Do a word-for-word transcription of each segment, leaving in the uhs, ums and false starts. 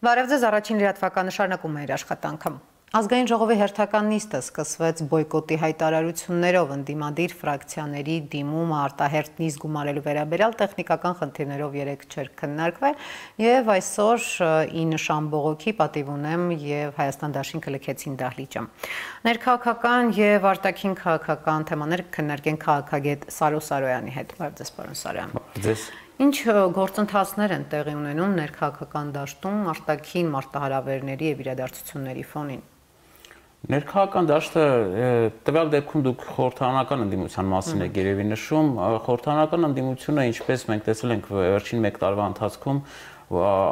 Բարև ձեզ, առաջին լրատվականը շարունակում է իր աշխատանքը։ Ազգային ժողովի հերթական նիստը սկսվեց բոյկոտի հայտարարություններով, ընդդիմադիր ֆրակցիաների դիմումը արտահերթ նիստ գումարելու վերաբերյալ տեխնիկական խնդիրներով երեկ չէր քննարկվել, եւ այսօր ի նշան բողոքի պատիվ ունեմ եւ Հայաստան դաշինքը լքեցին դահլիճը։ Ներքաղաքական եւ արտաքին քաղաքական թեմաներ քննարկեն քաղաքագետ Սարո Սարոյանի հետ։ Բարև ձեզ, պարոն Սարոյան։ Ձեզ։ Ինչ գործընթացներ են տեղի ունենում ներքաղաքական դաշտում արտաքին մարտահրավերների եւ իրադարձությունների ֆոնին։ Ներքաղաքական դաշտը տվյալ դեպքում դուք խորհրդարանական ընդդիմության մասին եք երևի նշում, խորհրդարանական ընդդիմությունը, ինչպես մենք տեսել ենք վերջին մեկ տարվա ընթացքում,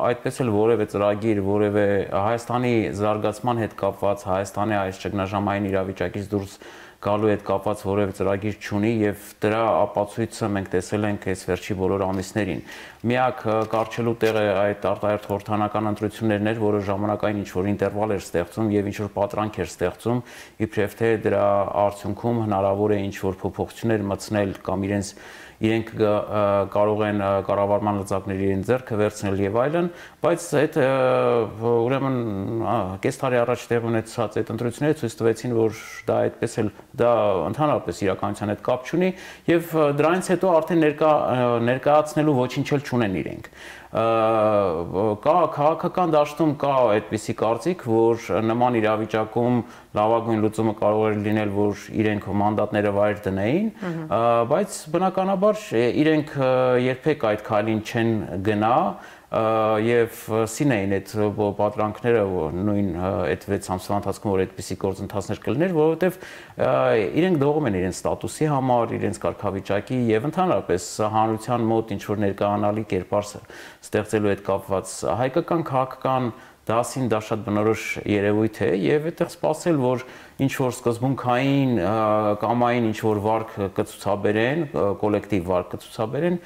այդպես էլ որևէ ծրագիր, որևէ Հայաստանի զարգացման հետ կապված, Հայաստանի այս ճգնաժամային իրավիճակից դուրս գալու հետ կապված որևէ ծրագիր չունի եւ դրա ապացույցը մենք տեսել ենք այս վերջի բոլոր ամիսներին։ Միակ կարճելու տեղը այդ արտահերթ խորհրդարանական ընտրություններն էր, որը ժամանակային ինչ-որ ինտերվալ էր ստեղծում եւ ինչ-որ պատրանք էր ստեղծում, իբրև թե դրա արդյունքում հնարավոր է ինչ-որ փոփոխություններ մտցնել կամ իրենց իրենք կարող են կառավարման լծակների իրեն ձեռքը վերցնել եւ այլն, բայց այդ ուրեմն կես տարի առաջ տեղի ունեցած այդ ընտրությունները ցույց տվեցին, որ դա այդպես էլ դա ընդհանրապես իրականության հետ կապ չունի եւ դրանից հետո արդեն ներկա ներկայացնելու ոչինչ էլ չունեն իրենք։ Կա քաղաքական դաշտում կա այդպիսի կարծիք, որ նման իրավիճակում լավագույն լուծումը կարող է լինել, որ իրենք մանդատները վայր դնեին, բայց բնականաբար իրենք երբեք այդ քայլին չեն գնա եւ սին էին այդ պատրանքները նույն այդ վեց ամսվա ընթացքում, որ այդպիսի գործընթացներ կլիներ, որովհետեւ իրենք դողում են իրենց ստատուսի համար, իրենց կարգավիճակի եւ ընդհանրապես հանրության մոտ ինչ որ ներկայանալի կերպար ստեղծելու հետ կապված հայկական քաղաքական դասին դա շատ բնորոշ երևույթ է եւ այդտեղ սպասել, որ ինչ որ սկզբունքային կամային ինչ որ վարկ կցուցաբերեն, կոլեկտիվ վարկ կցուցաբերեն,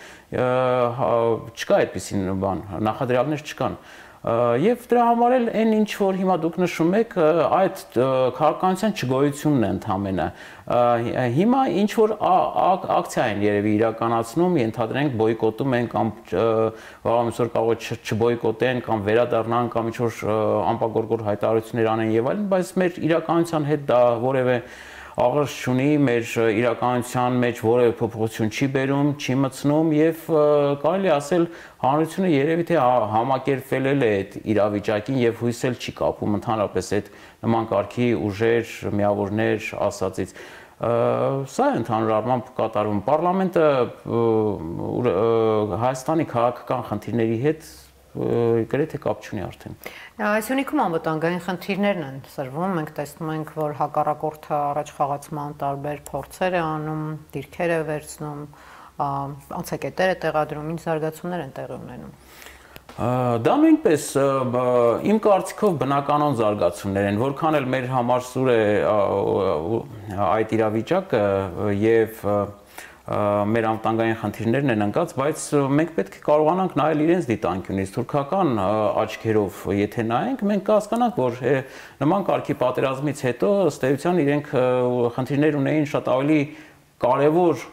չկա այդպիսին բան, նախադրյալներ չկան։ Եվ դրա համար էլ այն ինչ որ հիմա դուք նշում եք, այդ քաղաքականության չգոյությունն է ընդամենը։ Հիմա ինչ որ ակցիա են երևի իրականացնում, ենթադրենք բոյկոտում են կամ վաղամիսօր կարող է չբոյկոտեն կամ վերադառնան կամ ինչ որ անպագորգոր հայտարարություններ անեն եւ այլն, բայց մեր իրականության հետ դա որևէ աղերս չունի, մեր իրականության մեջ որևէ փոփոխություն չի բերում, չի մտցնում եւ կարելի ասել հանրությունը երևի թե համակերպվել է այդ իրավիճակին եւ հույսել չի կապում ընդհանրապես այդ նման կարգի ուժեր, միավորներ ասածից։ Սա է ընդհանուր առմամբ կատարվում։ Պարլամենտը Հայաստանի քաղաքական խնդիրների հետ գրեթե կապ չունի արդեն։ Այս ունիքում անվտանգային խնդիրներն են սրվում, մենք տեսնում ենք, որ հակառակորդը առաջ խաղացման տարբեր փորձեր է անում, դիրքեր է վերցնում, անցակետեր է տեղադրում, ինչ զարգացումներ են տեղի ունենում։ Դա նույնպես իմ կարծիքով բնականon զարգացումներ են, որքան էլ մեր համար սուր է այդ իրավիճակը եւ մեր անվտանգային խնդիրներն են ընկած, բայց մենք պետք է կարողանանք նայել իրենց դիտանկյունից, թուրքական աչքերով եթե նայենք, մենք կհասկանանք, որ նման կարգի պատերազմից հետո ըստ էության իրենք խնդիրներ ունեին շատ ավելի կարևոր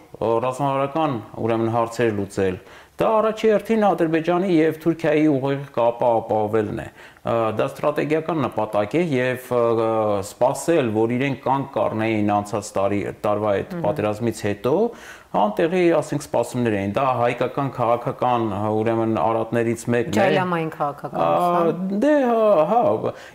ռազմավարական ուրեմն հարցեր լուծել։ Դա առաջի հերթին Ադրբեջանի եւ Թուրքիայի ուղիղ կապը ապահովելն է։ Դա ստրատեգիական նպատակ է եւ սպասել, որ իրենք կանգ կառնեին անցած տարի տարվա այդ պատերազմից հետո, անտեղի, ասենք, սպասումներ էին։ Դա հայկական քաղաքական ուրեմն արատներից մեկն է։ Ջայլամային քաղաքականություն։ Դե հա,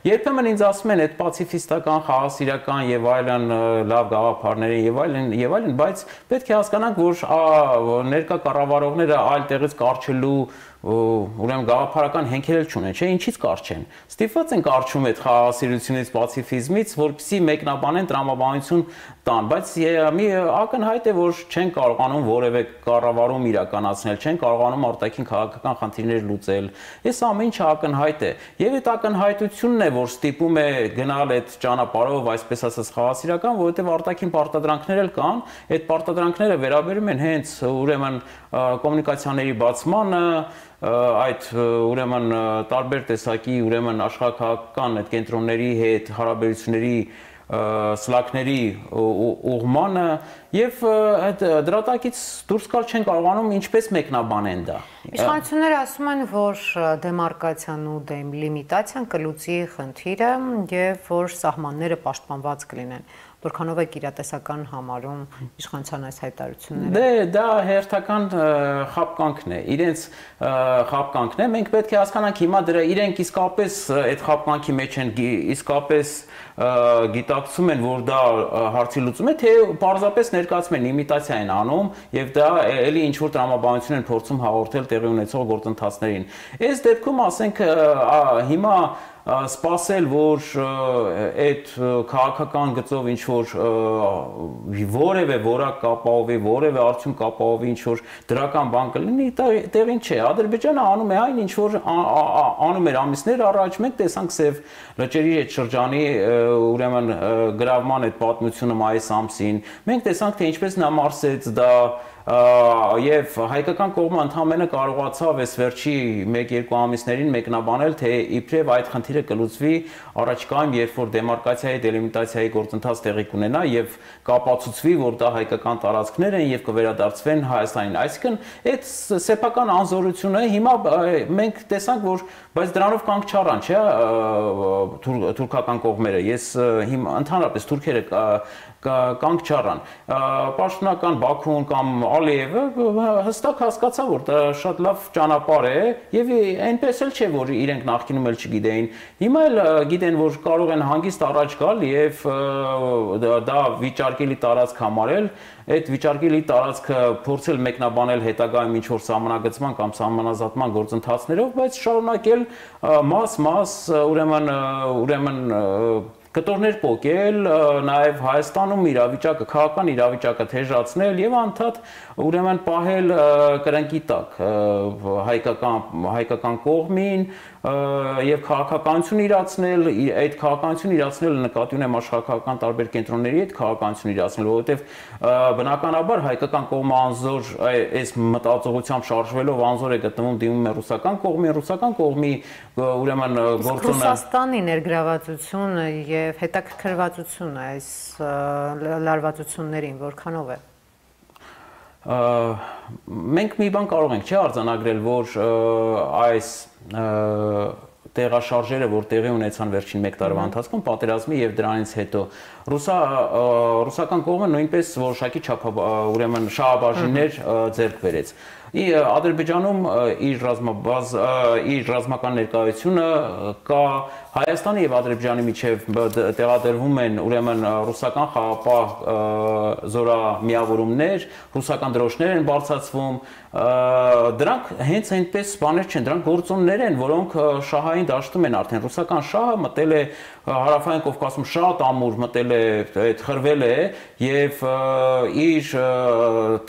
երբեմն ինձ ասում են այդ պացիֆիստական, խաղաղասիրական եւ այլն լավ գաղափարներ եւ այլն եւ այլն, բայց պետք է հասկանանք, որ ներկա կառավարողները այլ տեղից կարճելու ուրեմն գաղափարական հենքեր չունեն, չէ՞, ինչից կարճեն։ Ստիպված են կարճում այդ խաղաղասիրությունից, պացիֆիզմից, որպեսզի մեկնաբանեն տրամաբանություն տան, բայց մի ակնհայտ է, որ չեն կարողանում որևէ կառավարում իրականացնել, չեն կարողանում արտաքին քաղաքական խնդիրներ լուծել։ Այս ամեն ինչը ակնհայտ է։ Եվ այդ ակնհայտությունն է, որ ստիպում է գնալ այդ ճանապարհով, այսպես ասած, խաղաղասիրական, որովհետև արտաքին պարտադրանքներ էլ կան, այդ պարտադրանքները վերաբերում են հենց ուրեմն կոմունիկացիաների բացմանը, այդ ուրեմն տարբեր տեսակի ուրեմն աշխարհաքաղաքական այդ կենտրոնների հետ հարաբերությունների սլաքների ուղղմանը եւ այդ դրատակից դուրս գալ չեն կարողանում ինչպես մեկնաբանեն դա։ Իշխանությունները ասում են, որ դեմարկացիան ու դելիմիտացիան կլուծի խնդիրը եւ որ սահմանները պաշտպանված կլինեն։ Որքանով եք իրատեսական համարում իշխանության այս հայտարարությունները։ Դե դա հերթական խապկանքն է, իրենց խապկանքն է, մենք պետք է հասկանանք հիմա դրա իրենք իսկապես այդ խապկանքի մեջ են իսկապես գիտակցում են, որ դա հարցի լուծում է, թե պարզապես ներկայացում են իմիտացիա են անում եւ դա էլի ինչ որ տրամաբանություն են փորձում հաղորդել տեղի ունեցող գործընթացներին։ Այս դեպքում ասենք հիմա սպասել, որ այդ քաղաքական գծով ինչ որ որևէ որակ կապահովի, որևէ արդյունք կապահովի, ինչ որ դրական բան կլինի, տեղին չէ։ Ադրբեջանը անում է այն, ինչ որ անում էր ամիսներ առաջ, մենք տեսանք Սև լճերի այդ շրջանի ուրեմն գրավման այդ պատմությունը մայիս ամսին։ Մենք տեսանք, թե ինչպես նա մարսեց դա եւ հայկական կողմը ընդհանրապես կարողացավ այս վերջի մեկ-երկու ամիսներին մեկնաբանել, թե իբրև այդ խնդիրը կլուծվի առաջիկայում, երբ որ դեմարկացիայի, դելիմիտացիայի գործընթաց տեղի կունենա եւ կապացուցվի, որ դա հայկական տարածքներ են եւ կվերադարձվեն Հայաստանին։ Այսինքն այդ սեփական անզորությունը հիմա մենք տեսանք, որ բայց դրանով կանգ չառան, չէ՞, թուրքական կողմերը։ Ես հիմա ընդհանրապես թուրքերը կանգ չառան։ Պաշտոնական Բաքուն կամ Ալիևը հստակ հասկացա, որ դա շատ լավ ճանապարհ է եւ այնպես էլ չէ, որ իրենք նախկինում էլ չգիտեին։ Հիմա էլ գիտեն, որ կարող են հանգիստ առաջ գալ եւ դա վիճարկելի տարածք համարել, այդ վիճարկելի տարածքը փորձել մեկնաբանել հետագայում ինչ որ սահմանագծման կամ սահմանազատման գործընթացներով, բայց շարունակել մաս-մաս ուրեմն ուրեմն կտորներ պոկել, նաև Հայաստանում իրավիճակը, քաղաքական իրավիճակը թեժացնել եւ անդադ ուրեմն պահել կրնկի տակ հայկական հայկական կողմին եւ քաղաքականություն իրացնել, այդ քաղաքականություն իրացնելը նկատի ունեմ աշխարհական տարբեր կենտրոնների հետ քաղաքականություն իրացնել, որովհետեւ բնականաբար հայկական կողմը անզոր այս մտածողությամբ շարժվելով անզոր է գտնվում դիմում է ռուսական կողմին, ռուսական կողմի ուրեմն գործոնը Ռուսաստանի ներգրավվածությունը եւ հետաքրքրվածությունը այս լարվածություններին որքանով է։ Մենք մի բան կարող ենք, չէ՞, արձանագրել, որ այս տեղաշարժերը, որ տեղի ունեցան վերջին մեկ տարվա ընթացքում պատերազմի եւ դրանից հետո ռուսա ռուսական կողմը նույնպես որոշակի չափ ուրեմն շահաբաժիններ ձեռք բերեց։ Ադրբեջանում իր ռազմաբազ իր ռազմական ներկայությունը կա Հայաստանի եւ Ադրբեջանի միջև տեղադրվում են ուրեմն ռուսական խաղապահ զորամիավորումներ, ռուսական դրոշներ են բարձրացվում, դրանք հենց այնպես բաներ չեն, դրանք գործոններ են, որոնք շահային դաշտում են արդեն ռուսական շահը մտել է հարավային Կովկասում շատ ամուր մտել է այդ խրվել է եւ իր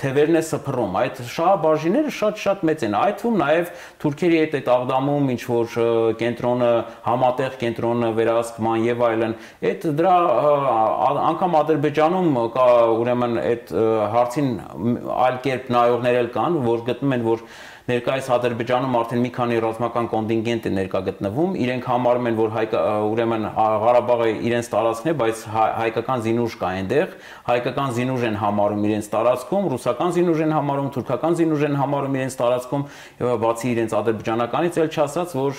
թևերն է սփռում, այդ շահաբաժինները շատ-շատ մեծ են, այդ թվում նաեւ թուրքերի հետ այդ աղդամում ինչ որ կենտրոնը համատեղ կենտրոնը վերահսկման եւ այլն, այդ դրա անգամ Ադրբեջանում կա ուրեմն այդ հարցին այլ կերպ նայողներ էլ կան, որ գտնում են, որ ներկայիս Ադրբեջանում արդեն մի քանի ռազմական կոնտինգենտ է ներկա գտնվում, իրենք համարում են, որ հայ ուրեմն Ղարաբաղը իրենց տարածքն է, բայց հայկական զինուժ կա այնտեղ, հայկական զինուժ են համարում իրենց տարածքում, ռուսական զինուժ են համարում, թուրքական զինուժ են համարում իրենց տարածքում, բացի իրենց ադրբեջանականից էլ չասած, որ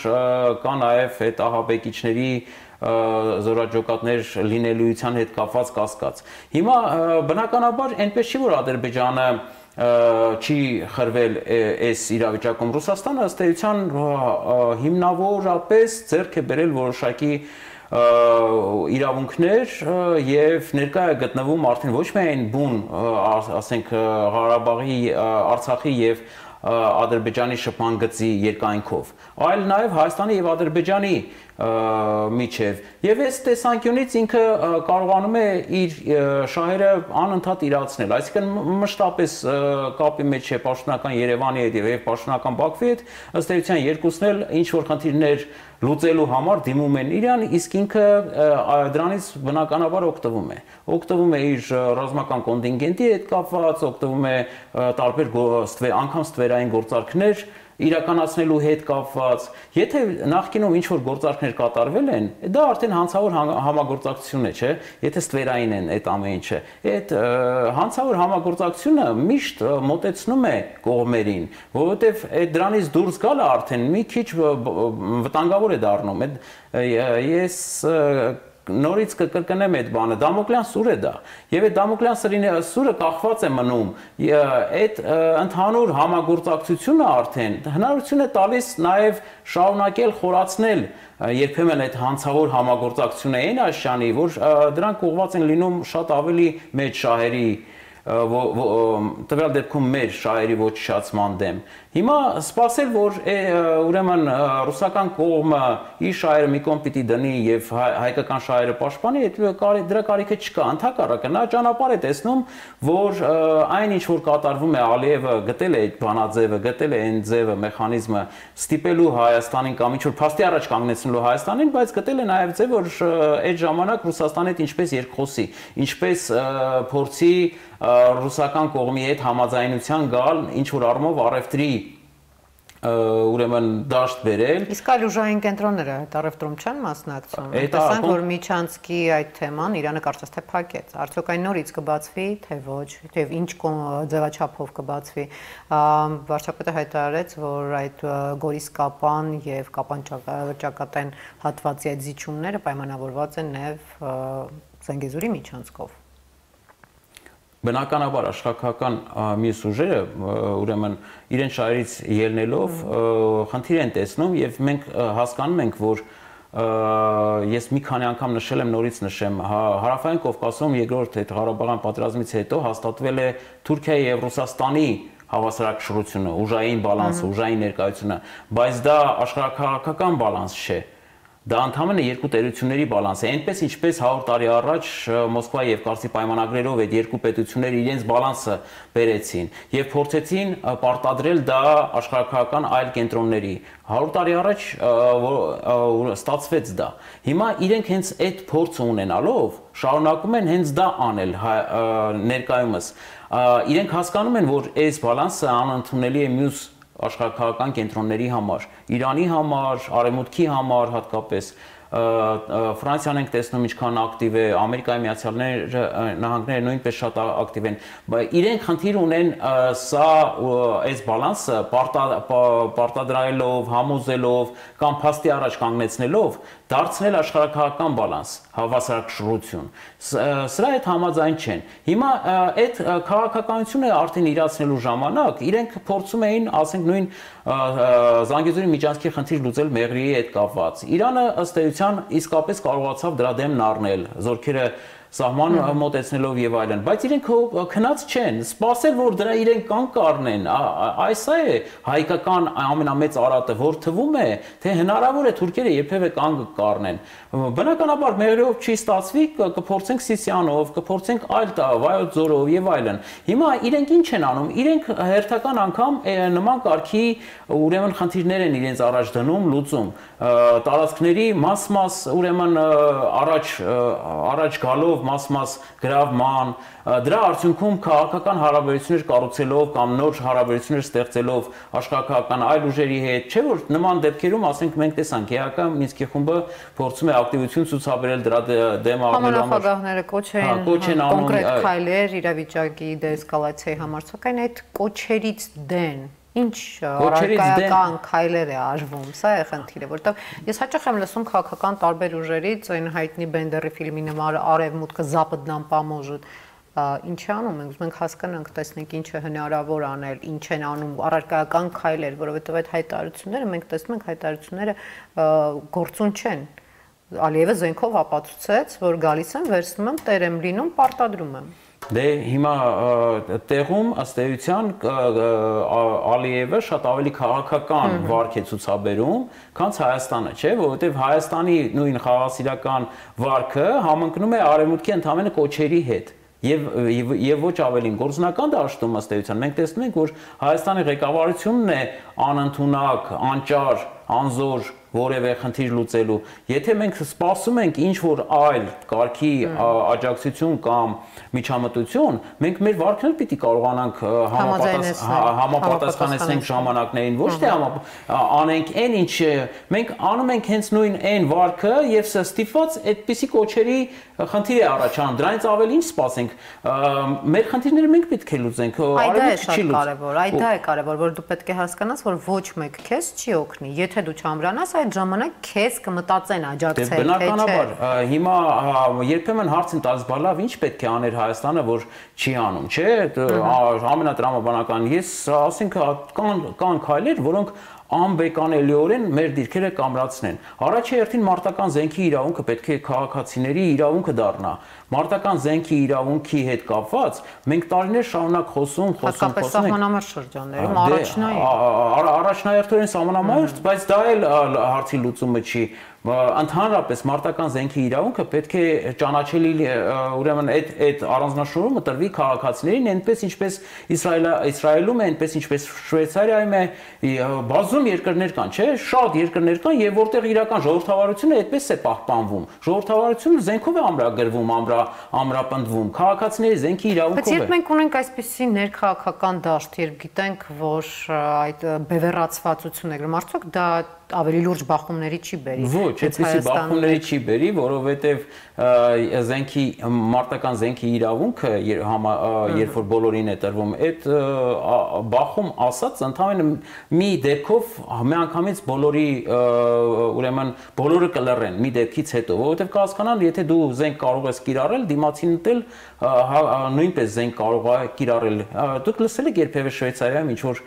կա նաև այդ ահաբեկիչների զորաճոկատներ լինելիության հետ կապված կասկած։ Հիմա բնականաբար այնպես չի, որ Ադրբեջանը չի խրվել այս իրավիճակում Ռուսաստանը ըստ էության հիմնավորապես ձեռք է բերել որոշակի իրավունքներ եւ ներկա է գտնվում արդեն ոչ միայն բուն, ասենք Ղարաբաղի, Արցախի եւ Ադրբեջանի շփման գծի երկայնքով, այլ նաև Հայաստանի եւ Ադրբեջանի միջև եւ այս տեսանկյունից ինքը կարողանում է իր շահերը անընդհատ իրացնել, այսինքն մշտապես կապի մեջ է պաշտոնական Երևանի հետ եւ պաշտոնական Բաքվի հետ, ըստ էության երկուսն էլ ինչ որ խնդիրներ լուծելու համար դիմում են իրան, իսկ ինքը դրանից բնականաբար օգտվում է։ Օգտվում է իր ռազմական կոնտինգենտի հետ կապված, օգտվում է տարբեր անգամ ստվերային գործարքներ իրականացնելու հետ կապված, եթե նախկինում ինչ որ գործարքներ կատարվել են, դա արդեն հանցավոր համագործակցություն է, չէ՞, եթե ստվերային են այդ ամեն ինչը։ Այդ հանցավոր համագործակցությունը միշտ մոտեցնում է կողմերին, որովհետև այդ դրանից դուրս գալը արդեն մի քիչ վտանգավոր է դառնում։ Ես նորից կկրկնեմ այդ բանը, Դամոկլյան սուր է դա, եւ այդ Դամոկլյան սուրը կախված է մնում այդ ընդհանուր համագործակցությունը արդեն հնարավորություն է տալիս նաեւ շարունակել խորացնել երբեմն այդ հանցավոր համագործակցությունը այն աշյանի, որ դրանք ուղղված են լինում շատ ավելի մեծ շահերի տվյալ դեպքում մեր շահերի ոչնչացման դեմ։ Հիմա սպասել, որ ուրեմն ռուսական կողմը իր շահերը մի կողմ պիտի դնի եւ հայկական շահերը պաշտպանի, դրա կարիքը չկա։ Ընդհակառակը նա ճանապարհ է տեսնում, որ այն ինչ որ կատարվում է, Ալիևը գտել է այդ բանաձևը, գտել է այն ձևը, մեխանիզմը ստիպելու Հայաստանին կամ ինչ որ փաստի առաջ կանգնեցնելու Հայաստանին, բայց գտել է նաեւ ձև, որ այդ ժամանակ Ռուսաստանի հետ ինչպես երկխոսի, ինչպես փորձի ռուսական կողմի հետ համաձայնության գալ ինչ որ առումով առևտրի ուրեմն դաշտ բերել։ Իսկ այլ ուժային կենտրոնները այդ առևտրում չեն մասնակցում։ Տեսանք, որ Միչանսկի այդ թեման Իրանը կարծես թե փակեց։ Արդյոք այն նորից կբացվի, թե ոչ, եւ ինչ ձևաչափով կբացվի։ Վարչապետը հայտարարեց, որ այդ Գորիս-Կապան եւ Կապան ճակատեն հատվածի այդ զիջումները պայմանավորված են նաեւ Զանգեզուրի Միչանսկով։ Բնականաբար աշխարհական մյուս ուժերը ուրեմն իրեն շահերից ելնելով խնդիր են տեսնում եւ մենք հասկանում ենք, որ ես մի քանի անգամ նշել եմ, նորից նշեմ, Հարավային Կովկասում երկրորդ այդ Ղարաբաղյան պատերազմից հետո հաստատվել է Թուրքիայի եւ Ռուսաստանի հավասարակշռությունը, ուժային բալանսը, ուժային ներկայությունը, բայց դա աշխարհակաղակական բալանս չէ։ Դա ընդհանրապես երկու տերությունների բալանս է, այնպես ինչպես հարյուր տարի առաջ Մոսկվայի եւ Կարսի պայմանագրերով այդ երկու պետությունները իրենց բալանսը բերեցին եւ փորձեցին պարտադրել դա աշխարհակաղակական այլ կենտրոնների։ հարյուր տարի առաջ ստացվեց դա։ Հիմա իրենք հենց այդ փորձը ունենալով շարունակում են հենց դա անել ներկայումս։ Իրենք հասկանում են, որ այս բալանսը անընդունելի է մյուս աշխարհակաղակական կենտրոնների համար, Իրանի համար, Արևմուտքի համար հատկապես, Ֆրանսիան ենք տեսնում ինչքան ակտիվ է, Ամերիկայի Միացյալ Նահանգները նույնպես շատ ակտիվ են, բայց իրենք խնդիր ունեն սա այս բալանսը պարտադրելով, համոզելով կամ փաստի առաջ կանգնեցնելով դարձնել աշխարհակաղակական բալանս, հավասարակշռություն։ Սրա հետ համաձայն չեն։ Հիմա այդ քաղաքականությունը արդեն իրացնելու ժամանակ իրենք փորձում էին, ասենք նույն Զանգեզուրի Միչանսկի խնդիր լուծել Մեղրիի հետ կապված։ Իրանը ըստ էության իսկապես կարողացավ դրա դեմն առնել, զորքերը սահման մոտեցնելով եւ այլն, բայց իրենք քնած չեն, սпасել որ դրա իրենք կան կառնեն, այս է հայկական ամենամեծ արատը, որ թվում է, թե հնարավոր է թուրքերը երբևէ կան կառնեն։ Բնականաբար Մեղրիով չի ստացվի, կփորձենք Սիսիանով, կփորձենք այլ Վայոց ձորով եւ այլն։ Հիմա իրենք ինչ են անում, իրենք հերթական անգամ նման կարգի ուրեմն խնդիրներ են իրենց առաջ դնում, լուծում, տարածքների մաս-մաս ուրեմն առաջ առաջ գալով մաս-մաս գրավման, դրա արդյունքում քաղաքական հարաբերություններ կառուցելով կամ նոր հարաբերություններ ստեղծելով աշխարհակաղակական այլ ուժերի հետ, չէ՞ որ նման դեպքերում, ասենք մենք տեսանք, ԵԱԿ Մինսկի խումբը փորձում է ակտիվություն ցուցաբերել դրա դեմ առնելու համար։ Համանախագահները կոչ են կոնկրետ քայլեր իրավիճակի դեսկալացիայի համար, սակայն այդ կոչերից դեն ինչ առարկայական քայլեր է արվում, սա է խնդիրը, որտեղ ես հաճախ եմ լսում քաղաքական տարբեր ուժերից, այն հայտնի Բենդերի ֆիլմի նման արևմուտքը Запад нам поможет, ինչ անում ենք, մենք հասկանանք, տեսնենք ինչ է հնարավոր անել, ինչ են անում առարկայական քայլեր, որովհետև այդ հայտարարությունները մենք տեսնում ենք հայտարարությունները գործուն չեն։ Ալիևը զենքով ապացուցեց, որ գալիս եմ, վերցնում եմ, տեր եմ լինում, պարտադրում եմ։ Դե հիմա տեղում ըստ էության Ալիևը շատ ավելի քաղաքական վարք է ցուցաբերում, քան Հայաստանը, չէ՞, որովհետև Հայաստանի նույն խաղաղասիրական վարքը համընկնում է արևմուտքի ընդհանրապես կոչերի հետ։ Եվ եւ ոչ ավելին գործնական դաշտում ըստ էության մենք տեսնում ենք, որ Հայաստանի ղեկավարությունն է անընդունակ, անճար, անզոր որևէ խնդիր լուծելու։ Եթե մենք սպասում ենք ինչ որ այլ կարգի աջակցություն կամ միջամտություն, մենք մեր վարքն պիտի կարողանանք համապատասխանեցնենք ժամանակներին, ոչ թե անենք այն ինչ մենք անում ենք հենց նույն այն վարքը եւ ստիպված այդպիսի կոչերի խնդիր է առաջանում։ Դրանից ավելի ինչ սպասենք։ Մեր խնդիրները մենք պետք է լուծենք։ Այդ է շատ կարևոր, այդ է կարևոր, որ դու պետք է հասկանաս, որ ոչ մեկ քեզ չի օգնի։ Եթե դու չամրանաս, այդ ժամանակ քեզ կմտածեն աջակցել, թե չէ։ Բնականաբար, հիմա երբեմն հարց են տալիս, բա լավ, ինչ պետք է աներ Հայաստանը, որ չի անում, չէ՞։ Ամենատրամաբանական, ես ասենք կան կան քայլեր, որոնք անբեկանելիորեն մեր դիրքերը կամրացնեն։ Առաջի հերթին մարտական զենքի իրավունքը պետք է քաղաքացիների իրավունքը դառնա։ Մարտական զենքի իրավունքի հետ կապված մենք տարիներ շարունակ խոսում, խոսում, խոսում ենք։ Հատկապես սահմանամերձ շրջաններում առաջնային։ Առաջնահերթորեն սահմանամերձ, բայց դա էլ հարցի լուծումը չի։ Ընդհանրապես մարտական զենքի իրավունքը պետք է ճանաչելի ուրեմն այդ այդ առանձնաշնորհումը տրվի քաղաքացիներին, այնպես ինչպես Իսրայելում է, այնպես ինչպես Շվեյցարիայում է, բազում երկրներ կան, չէ՞, շատ երկրներ կան եւ որտեղ իրական ժողովրդավարությունը այդպես է պահպանվում։ Ժողովրդավարությունը զենքով է ամրագրվում, ամրա ամրապնդվում, քաղաքացիների զենքի իրավունքով է։ Բայց երբ մենք ունենք այսպիսի ներքաղաքական դաշտ, երբ գիտենք, որ այդ բևեռացվածություն է, արդյոք դա ավելի լուրջ բախումների չի բերի։ Ոչ, այդպիսի բախումների չի բերի, որովհետև զենքի մարտական զենքի իրավունքը երբ որ բոլորին է տրվում, այդ բախում ասած ընդհանրապես մի դեպքով միանգամից բոլորի ուրեմն բոլորը կլռեն մի դեպքից հետո, որովհետև կհասկանան, եթե դու զենք կարող ես կիրառել, դիմացին էլ նույնպես զենք կարող է կիրառել։ Դուք լսել եք երբևէ Շվեյցարիայում ինչ որ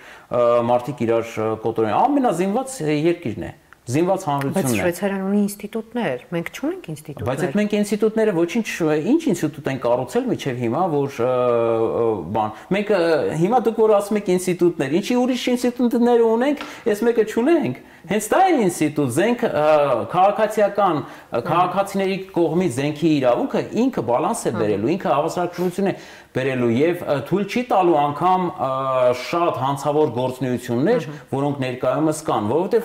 մարդիկ իրար կոտորեն, ամենազինված երկիրն է։ Զինված հանրությունն է։ Բայց Շվեյցարիան ունի ինստիտուտներ, մենք չունենք ինստիտուտներ։ Բայց այդ մենք ինստիտուտները ոչինչ, ինչ ինստիտուտ են կառուցել մինչև հիմա, որ բան։ Մենք հիմա դուք որ ասում եք ինստիտուտներ, ինչի ուրիշ ինստիտուտներ ունենք, այս մեկը չունենք։ Հենց դա է ինստիտուտ, զենք քաղաքացիական, քաղաքացիների կողմից զենքի իրավունքը ինքը բալանս է բերելու, ինքը հավասարակշռություն է բերելու եւ թույլ չի տալու անգամ շատ հանցավոր գործունեություններ, որոնք ներկայումս կան, որովհետեւ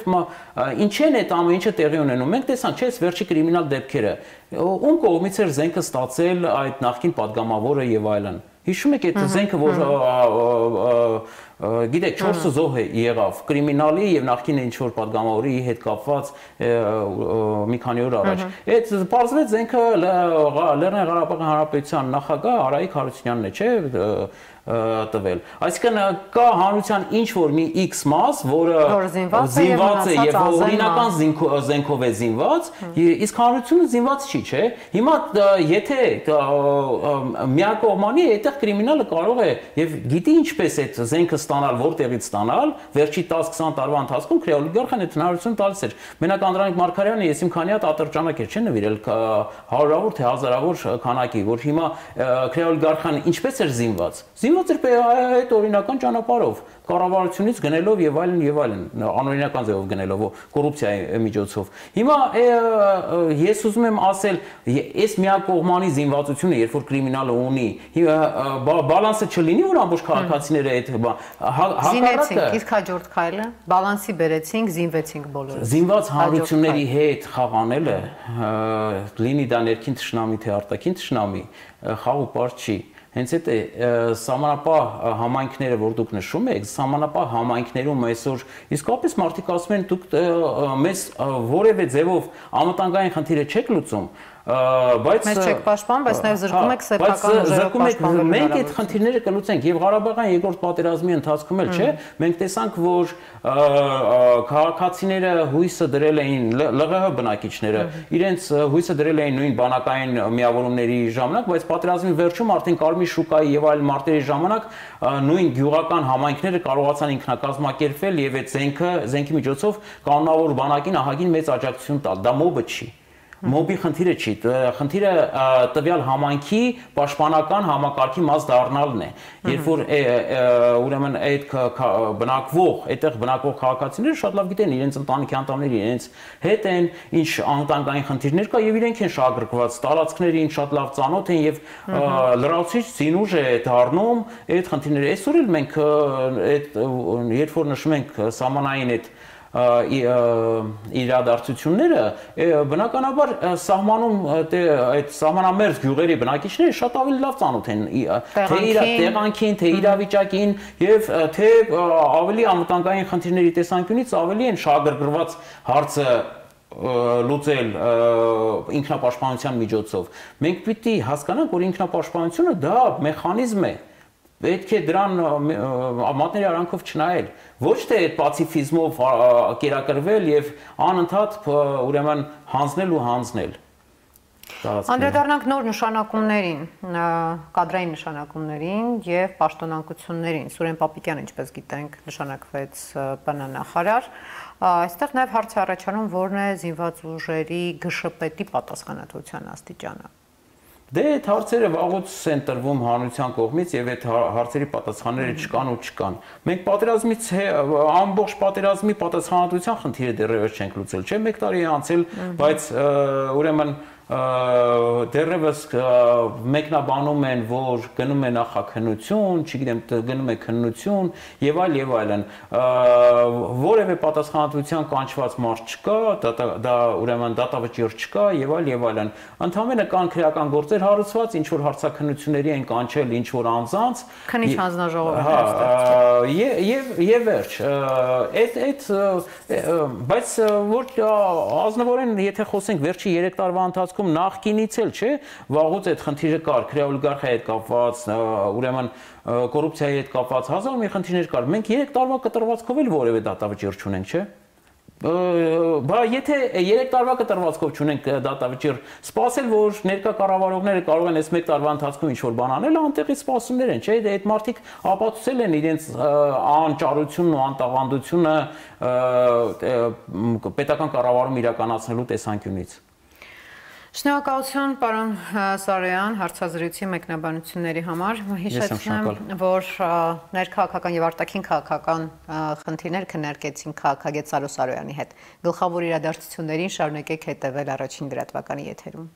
ինչ են այդ ամեն ինչը տեղի ունենում։ Մենք տեսանք, չէ՞, վերջի կրիմինալ դեպքերը, ում կողմից էր զենքը ստացել այդ նախկին падգամավորը եւ այլն։ Հիշում եք այդ զենքը, որ գիտեք, չորս զոհ եղավ կրիմինալի եւ նախկին ինչ որ падգամավորի հետ կապված մի քանի օր առաջ։ Այդ բարձրացած զենքը Լեռնային Ղարաբաղի Հանրապետության նախագահ Արայիկ Հարությունյանն է, չէ՞, տվել։ Այսինքն կա հանրության ինչ որ մի X մաս, որը զինված է եւ օրինական զենքով է զինված, իսկ հանրությունը զինված չի, չէ։ Հիմա եթե միակողմանի այդտեղ կրիմինալը կարող է եւ գիտի ինչպես այդ զենքը ստանալ, որտեղից ստանալ, վերջի տասը քսան տարվա ընթացքում քրեոլիգարխան այդ հնարավորությունը տալիս էր։ Մենակ Անդրանիկ Մարգարյանը ես իմ քանի հատ ատրճանակ էր, չէ՞ նվիրել հարյուրավոր թե հազարավոր քանակի, որ հիմա քրեոլիգարխան ինչպես էր զինված։ Զինված էր այդ օրինական ճանապարհով, կառավարությունից գնելով եւ այլն եւ այլն, անօրինական ձևով գնելով, կոռուպցիայի միջոցով։ Հիմա ես ուզում եմ ասել, այս միակողմանի զինվածությունը, երբ որ կրիմինալը ունի, բալանսը չլինի, որ ամբողջ քաղաքացիները այդ հակառակը իսկ հաջորդ քայլը բալանսի բերեցինք, զինվեցինք բոլորը։ Զինված հանրությունների հետ խաղանելը, լինի դա ներքին թշնամի թե արտաքին թշնամի, խաղ ու պար չի։ Հենց այդ է սահմանապահ համայնքները, որ դուք նշում եք, սահմանապահ համայնքներում այսօր իսկապես մարդիկ ասում են, դուք մեզ որևէ ձևով անվտանգային խնդիրը չեք լուծում, բայց մեզ չեք պաշտպանում, բայց նաև զրկում եք սեփական ուժերով պաշտպանվելու։ Մենք այդ խնդիրները կլուծենք եւ Ղարաբաղյան երկրորդ պատերազմի ընթացքում էլ, չէ, մենք տեսանք, որ քաղաքացիները հույսը դրել էին ԼՂՀ բնակիչները, իրենց հույսը դրել էին նույն բանակային միավորումների ժամանակ, բայց պատերազմի վերջում արդեն Կարմիր շուկայի եւ այլ մարտերի ժամանակ նույն գյուղական համայնքները կարողացան ինքնակազմակերպվել եւ այդ զենքը, զենքի միջոցով կանոնավոր բանակին ահագին մեծ աջակցություն տալ։ Դա մոբը չի։ Մոբի խնդիրը չի, խնդիրը տվյալ համայնքի պաշտպանական համակարգի մաս դառնալն է։ Երբ որ ուրեմն այդ բնակվող, այդտեղ բնակվող քաղաքացիները շատ լավ գիտեն իրենց ընտանիքի անդամների, իրենց հետ են, ինչ անվտանգային խնդիրներ կա եւ իրենք են շահագրգռված, տարածքներին շատ լավ ծանոթ են եւ լրացուցիչ զինուժ է դառնում այդ խնդիրները։ Այսօր էլ մենք այդ երբ որ նշում ենք սահմանային այդ իրադարձությունները, բնականաբար սահմանում այդ սահմանամերձ գյուղերի բնակիչները շատ ավելի լավ ծանոթ են թե իր տեղանքին, թե իրավիճակին եւ թե ավելի անվտանգային խնդիրների տեսանկյունից ավելի են շահագրգռված հարցը լուծել ինքնապաշտպանության միջոցով։ Մենք պիտի հասկանանք, որ ինքնապաշտպանությունը դա մեխանիզմ է, պետք է դրան մատների արանքով չնայել, ոչ թե այդ պացիֆիզմով կերակրվել եւ անընդհատ ուրեմն հանձնել ու հանձնել։ Անդրադառնանք նոր նշանակումներին, կադրային նշանակումներին եւ պաշտոնանկություններին։ Սուրեն Պապիկյանը, ինչպես գիտենք, նշանակվեց ՊՆ նախարար։ Այստեղ նաեւ հարց է առաջանում, որն է զինված ուժերի գշպետի պատասխանատվության աստիճանը։ Դե այդ հարցերը վաղուց են տրվում հանրության կողմից եւ այդ հարցերի պատասխանները չկան ու չկան։ Մենք պատերազմից ամբողջ պատերազմի պատասխանատվության խնդիրը դեռևս չենք լուծել, չէ՞, մեկ տարի է անցել, բայց ուրեմն դեռևս մեկնաբանում են, որ գնում է նախաքննություն, չգիտեմ, գնում է քննություն եւ այլ եւ այլն։ Որևէ պատասխանատվության կանչված մարդ չկա, դա ուրեմն դատավճիռ չկա եւ այլ եւ այլն։ Ընդհանրապես կան քրեական գործեր հարուցված, ինչ որ հարցաքննությունների են կանչել ինչ որ անձանց։ Քննիչ հանձնաժողովը։ Եվ եւ վերջ։ Այդ այդ բայց որ ազնվորեն եթե խոսենք վերջի երեք տարվա ընթացքում նախկինից էլ չէ, վաղուց այդ խնդիրը կար, քրեօլիգարխիայի հետ կապված, ուրեմն կոռուպցիայի հետ կապված հազար մի խնդիրներ կար։ Մենք երեք տարվա կտրվածքով էլ որևէ դատավճիռ չունենք, չէ՞։ Բա եթե երեք տարվա կտրվածքով չունենք դատավճիռ, սպասել որ ներկա կառավարողները կարող են այս մեկ տարվա ընթացքում ինչ-որ բան անել, անտեղի սպասումներ են, չէ՞, այդ մարդիկ ապացուցել են իրենց անճարությունն ու անտաղանդությունը պետական կառավարում իրականացնելու տեսանկյունից։ Շնորհակալություն, պարոն Սարոյան, հարցազրույցի մեկնաբանությունների համար։ Հիշեցնեմ, որ ներքաղաքական եւ արտաքին քաղաքական խնդիրներ քննարկեցին քաղաքագետ Սարո Սարոյանի հետ։ Գլխավոր իրադարձություններին շարունակեք հետևել Առաջին լրատվականի եթերում։